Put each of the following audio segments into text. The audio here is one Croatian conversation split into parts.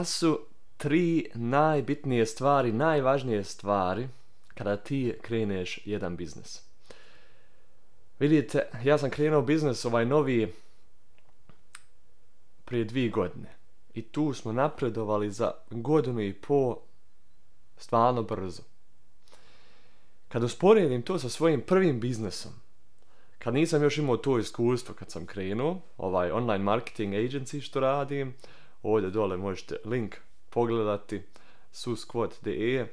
su 3 najbitnije stvari, najvažnije stvari kada ti kreneš jedan biznis? Vidite, ja sam krenuo biznis ovaj novi prije 2 godine. I tu smo napredovali za 1,5 godine stvarno brzo. Kad usporedim to sa svojim prvim biznesom, kad nisam još imao to iskustvo kad sam krenuo, ovaj online marketing agency što radim, ovdje dole možete link pogledati, susquad.de,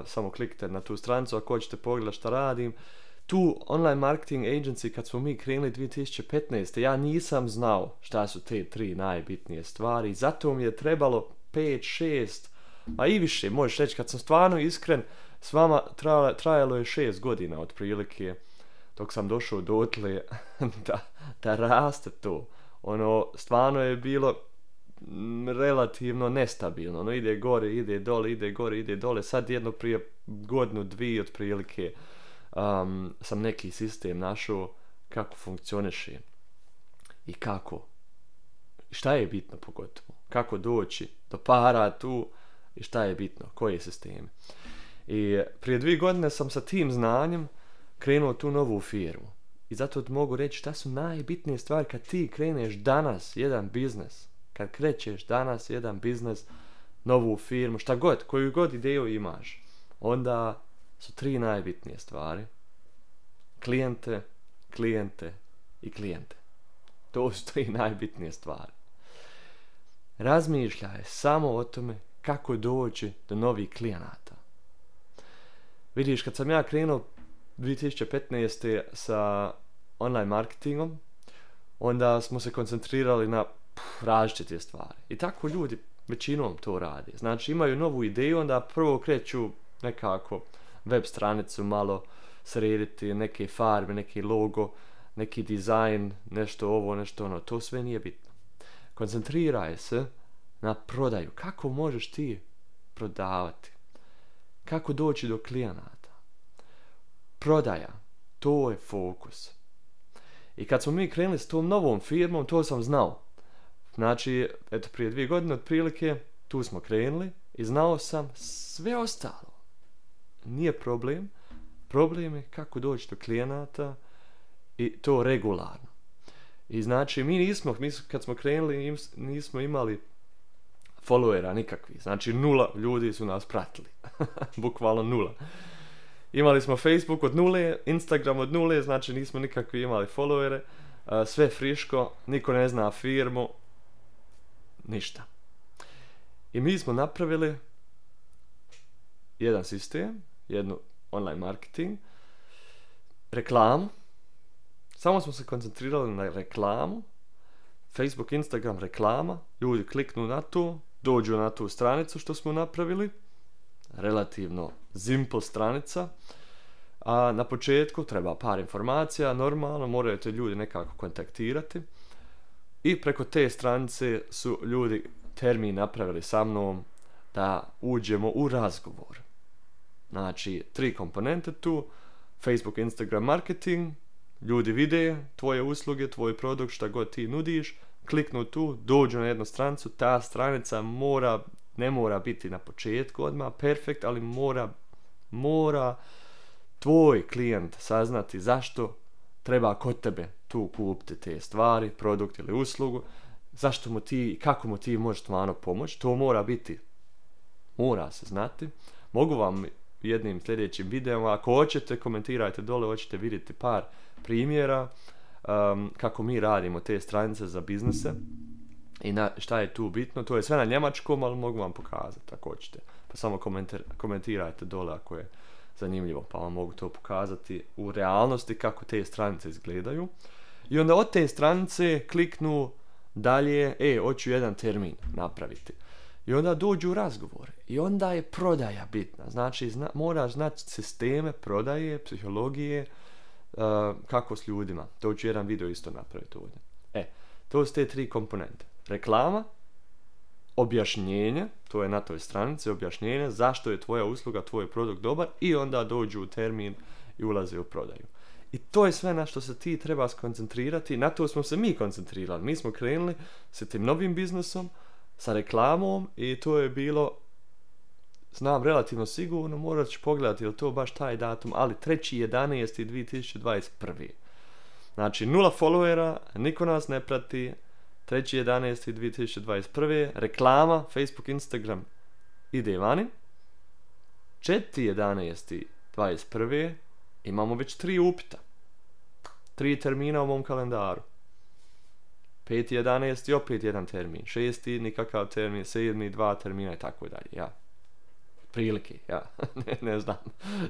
samo kliknite na tu stranicu ako hoćete pogledati šta radim. Tu online marketing agency kad smo mi krenuli 2015. ja nisam znao šta su te 3 najbitnije stvari, zato mi je trebalo 5, 6, a i više, možeš reći kad sam stvarno iskren, s vama trajalo je 6 godina otprilike dok sam došao dotle da raste to. Ono, stvarno je bilo relativno nestabilno. Ono, ide gore, ide dole, ide gore, ide dole. Sad jedno prije 1, 2 godine otprilike sam neki sistem našao kako funkcioniše i kako. Šta je bitno pogotovo? Kako doći do para tu i šta je bitno? Koje sisteme? I prije 2 godine sam sa tim znanjem krenuo tu novu firmu. I zato mogu reći šta su najbitnije stvari kad ti kreneš danas jedan biznes. Kad krećeš danas jedan biznes, novu firmu, šta god, koju god ideju imaš, onda su 3 najbitnije stvari. Klijente, klijente i klijente. To su 3 najbitnije stvari. Razmišljaj samo o tome kako doći do novih klijenata. Vidiš, kad sam ja krenuo 2015. sa online marketingom, onda smo se koncentrirali na različite stvari. I tako ljudi većinom to radi. Znači imaju novu ideju, onda prvo kreću nekako web stranicu malo srediti, neke farbe, neki logo, neki dizajn, nešto ovo, nešto ono. To sve nije bitno. Koncentriraj se na prodaju. Kako možeš ti prodavati? Kako doći do klijenata? Prodaja. To je fokus. I kad smo mi krenuli s tom novom firmom, to sam znao. Znači, eto, prije 2 godine otprilike, tu smo krenuli i znao sam sve ostalo. Nije problem. Problem je kako doći do klijenata i to regularno. I znači, mi kad smo krenuli, nismo imali followera nikakvi. Znači, 0 ljudi su nas pratili. Bukvalno 0. Imali smo Facebook od 0, Instagram od 0, znači nismo nikakvi imali followere. Sve friško, niko ne zna firmu. Ništa. I mi smo napravili jedan sistem, jednu online marketing, reklamu. Samo smo se koncentrirali na reklamu. Facebook, Instagram, reklama. Ljudi kliknu na to, dođu na tu stranicu što smo napravili. Relativno simple stranica. A na početku treba par informacija, normalno, moraju te ljudi nekako kontaktirati. I preko te stranice su ljudi termin napravili sa mnom da uđemo u razgovor. Znači, 3 komponente tu, Facebook, Instagram, marketing, ljudi vide tvoje usluge, tvoj produkt, šta god ti nudiš, kliknu tu, dođu na jednu stranicu, ta stranica ne mora biti na početku odmah perfekt, ali mora tvoj klijent saznati zašto treba kod tebe tu kupiti te stvari, produkt ili uslugu, zašto mu ti, kako mu ti možeš stvarno pomoći, to mora se znati. Mogu vam jednim sljedećim videom, ako hoćete, komentirajte dole, hoćete vidjeti par primjera kako mi radimo te stranice za biznise i šta je tu bitno. To je sve na njemačkom, ali mogu vam pokazati ako hoćete. Pa samo komentirajte dole ako je zanimljivo, pa vam mogu to pokazati u realnosti kako te stranice izgledaju. I onda od te stranice kliknu dalje, hoću jedan termin napraviti. I onda dođu u razgovor. I onda je prodaja bitna. Znači, moraš znati sisteme prodaje, psihologije, kako s ljudima. To ću jedan video isto napraviti ovdje. To su te 3 komponente. Reklama, objašnjenje, to je na toj stranici, objašnjenje zašto je tvoja usluga, tvoj produkt dobar i onda dođu u termin i ulaze u prodaju. I to je sve na što se ti treba skoncentrirati. Na to smo se mi koncentrirali. Mi smo krenuli sa tim novim biznesom sa reklamom i to je bilo, znam relativno sigurno, morat ću pogledati je li to baš taj datum, ali 3.11.2021. Znači 0 followera, niko nas ne prati, 3.11.2021. Reklama, Facebook, Instagram ide vani. 4.11.21. imamo već 3 upita. 3 termina u mom kalendaru. 5.11. opet jedan termin. 6. nikakav termin. 7. 2 termina i tako dalje. Ja. Prilike, ja. ne znam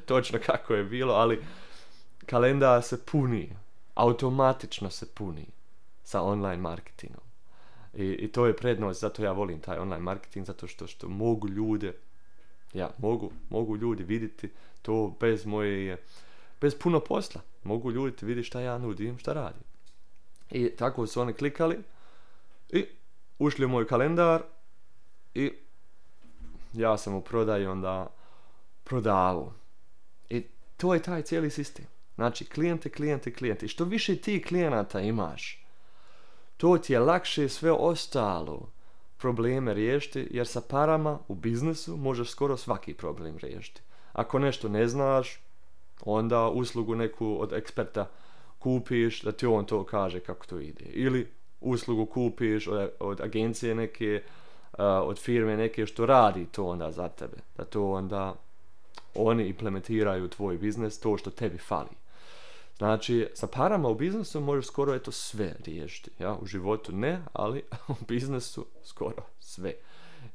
točno kako je bilo, ali kalendar se puni. Automatično se puni sa online marketingom. I to je prednost, zato ja volim taj online marketing, zato što mogu ljude, mogu ljudi vidjeti to bez puno posla. Mogu ljudi vidjeti šta ja nudim, šta radim. I tako su oni klikali i ušli u moj kalendar i ja sam u prodaju onda prodavao. I to je taj cijeli sistem. Znači, klijente. I što više ti klijenata imaš, to ti je lakše sve ostalo probleme riješiti, jer sa parama u biznisu možeš skoro svaki problem riješiti. Ako nešto ne znaš, onda uslugu neku od eksperta kupiš, da ti on to kaže kako to ide. Ili uslugu kupiš od agencije neke, od firme neke što radi to onda za tebe. Da to onda oni implementiraju u tvoj biznis, to što tebi fali. Znači, sa parama u biznisu možeš skoro sve riješiti. Ja, u životu ne, ali u biznisu skoro sve.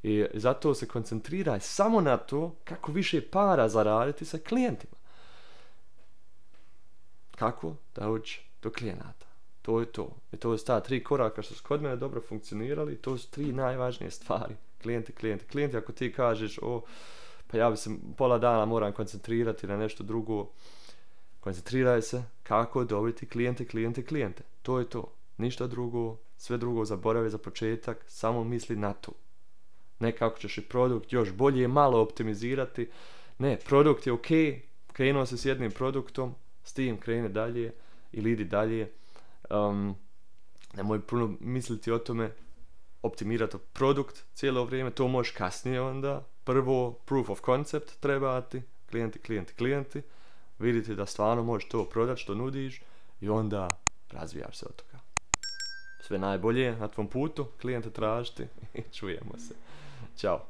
I zato se koncentriraj samo na to kako više para zaraditi sa klijentima. Kako da ući do klijenata. To je to. I to su ta 3 koraka što su kod mene dobro funkcionirali. To su 3 najvažnije stvari. Klijenti, ako ti kažeš, pa ja bi se pola dana moram koncentrirati na nešto drugo. Koncentriraj se kako dobiti klijente. To je to. Ništa drugo, sve drugo zaboravi za početak, samo misli na to. Ne kako ćeš i produkt još bolje malo optimizirati. Ne, produkt je ok, krenuo se s jednim produktom, s tim krene dalje ili idi dalje. Nemoj puno misliti o tome, optimirati produkt cijelo vrijeme, to možeš kasnije onda. Prvo, proof of concept trebati, klijenti. Vidite da stvarno možeš to prodati što nudiš i onda razvijaš se od toga. Sve najbolje na tvom putu, klijente tražiti i čujemo se. Ćao.